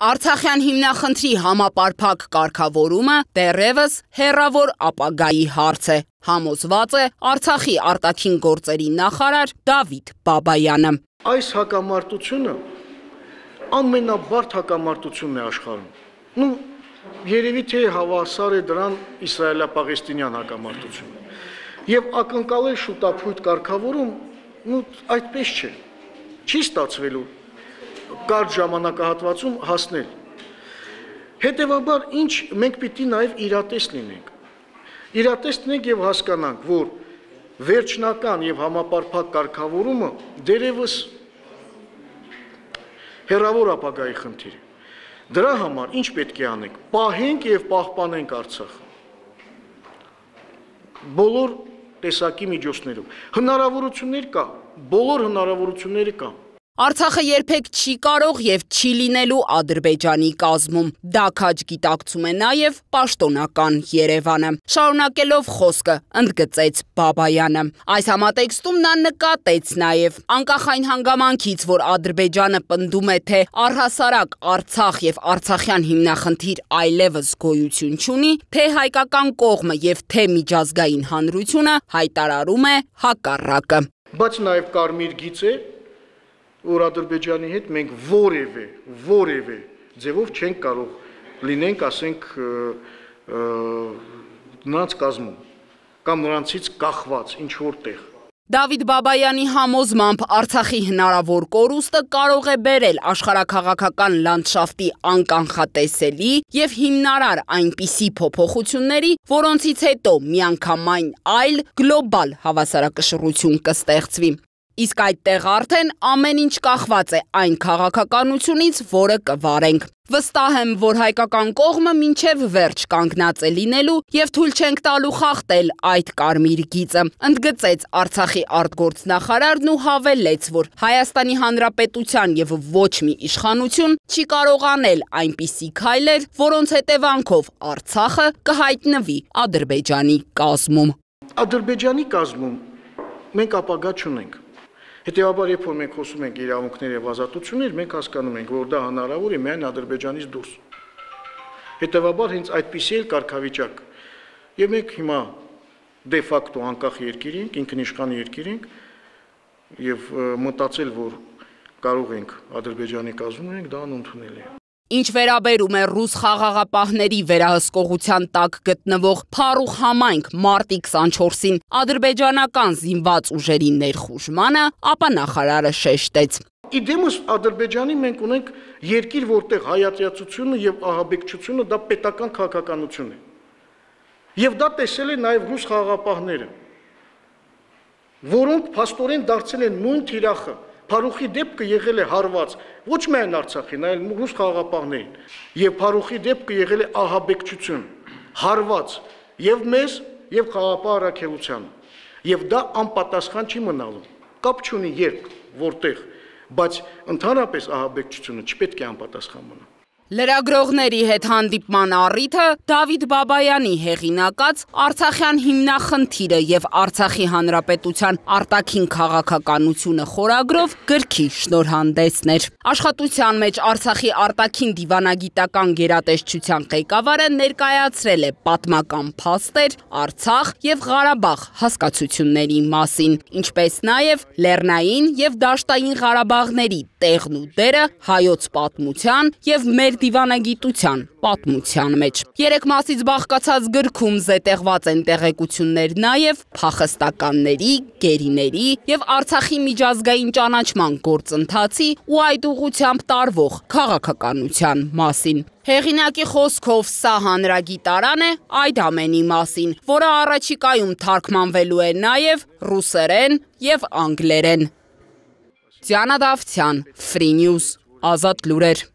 Արցախյան հիմնախնդրի համապարփակ կարգավորումը դեռևս հեռավոր ապագայի հարց է, համոզված է Արցախի արտաքին գործերի նախարար Դավիթ Բաբայանը։ Այս հակամարտությունը ամենաբարդ հակամարտությունն է աշխարհում։ Երևի թե հավասար է դրան իսրայելա-պաղեստինյան հակամարտությունը։ Եվ ակնկալել շուտապույտ կարգավորում, այդպես չէ։ Չի ստացվելու կարճ ժամանակահատվածում հասնել։ Հետևաբար մենք պիտի նաև իրատես լինենք։ Իրատես լինենք եւ հասկանանք, որ վերջնական եւ համապարփակ կարգավորումը դերևս հեռավոր ապագայի խնդիր է։ Դրա համար ինչ պետք է անենք։ Պահենք եւ պահպանենք Արցախը։ Բոլոր տեսակի միջոցներով։ Հնարավորություններ կա, բոլոր հնարավորությունները կան։ Արցախը երբեք չի կարող եւ չի լինելու Ադրբեջանի կազմում։ Դա քաջ գիտակցում է նաեւ պաշտոնական Երևանը։ Շարունակելով խոսքը, ընդգծեց Բաբայանը։ Այս համատեքստում նա նկատեց նաեւ անկախ այն հանգամանքից, որ Ադրբեջանը պնդում է, թե առհասարակ Արցախ եւ արցախյան հիմնախնդիր այլևս գոյություն չունի, թե հայկական կողմը եւ թե միջազգային հանրությունը հայտարարում է հակառակը։ Բայց նաեւ կարմիր գիծ է, որ Ադրբեջանի հետ մենք որևէ ձևով չենք կարող լինենք, ասենք, նրանց կազմում կամ նրանցից կախված ինչ որտեղ։ Դավիթ Բաբայանի համոզմամբ Արցախի հնարավոր կորուստը կարող է բերել աշխարհաքաղաքական լանդշաֆտի անկանխատեսելի եւ հիմնարար այնպիսի փոփոխությունների, որոնցից հետո միանգամայն այլ գլոբալ հավասարակշռություն կստեղծվի։ Իսկ այդտեղ արդեն ամեն ինչ կախված է այն քաղաքականությունից, որը կվարենք։ Վստահ եմ, որ հայկական կողմը մինչև վերջ կանգնած է լինելու եւ թույլ չենք տալու խախտել այդ կարմիր գիծը, ընդգծեց Արցախի արտգործնախարարն ու հավելեց, որ Հայաստանի Հանրապետության եւ ոչ մի իշխանություն չի կարող անել այնպիսի քայլեր, որոնց հետևանքով Արցախը կհայտնվի Ադրբեջանի կազմում։ Ադրբեջանի կազմում մենք ապագա չունենք։ Հետևաբար, երբ որ մենք խոսում ենք իրավունքներ եւ ազատություններ, մենք հասկանում ենք, որ դա հնարավոր է միայն Ադրբեջանից դուրս։ Հետևաբար, հենց այդպիսի էլ կարգավիճակ։ Եվ մենք հիմա դե ֆակտո անկախ երկիր ենք, ինքնիշխան երկիր ենք եւ մտածել, որ կարող ենք Ադրբեջանի կազմում ունենք, դա անընդունելի է։ Ինչ վերաբերում է ռուս խաղաղապահների վերահսկողության տակ գտնվող Փարուխ համայնք մարտի 24-ին ադրբեջանական զինված ուժերի ներխուժմանը, ապա նախարարը շեշտեց. Իդեմս Ադրբեջանի մենք ունենք երկիր, որտեղ հայատյացությունը եւ ահաբեկչությունը դա պետական քաղաքականություն է։ Եվ դա տեսել են նաեւ ռուս խաղաղապահները, որոնք փաստորեն դարձել են նույն թիրախը։ Փարուխի դեպքը եղել է հարված ոչ միայն Արցախին, այլ ռուս խաղաղապահներին, եւ Փարուխի դեպքը եղել է ահաբեկչություն, հարված եւ մեզ եւ խաղաղապահ առաքելությանը, եւ դա անպատասխան չի մնալու։ Կապ չունի երբ, որտեղ, բայց ընդհանրապես ահաբեկչությունը չպետք է անպատասխան մնա։ Լրագրողների հետ հանդիպման առիթը Դավիթ Բաբայանի հեղինակած Արցախյան հիմնախնդիրը եւ Արցախի Հանրապետության արտաքին քաղաքականությունը խորագրով գրքի շնորհանդեսն էր։ Աշխատության մեջ Արցախի արտաքին դիվանագիտական գերատեսչության ղեկավարը ներկայացրել է պատմական փաստեր Արցախ եւ Ղարաբաղ հասկացությունների մասին, ինչպես նաեւ Լեռնային եւ Դաշտային Ղարաբաղների տեղն ու դերը հայոց պատմության եւ մեր դիվանագիտության պատմության մեջ։ 3 մասից բաղկացած գրքում զետեղված են տեղեկություններ նաև փախստականների, գերիների եւ Արցախի միջազգային ճանաչման գործընթացի ու այդ ուղղությամբ տարվող քաղաքականության մասին։ Հեղինակի խոսքով սա հանրագիտարան է այդ ամենի մասին, որը առաջիկայում թարգմանվելու է նաև ռուսերեն եւ անգլերեն։ Դիանա Դավթյան, Free News, Ազատ լուրեր։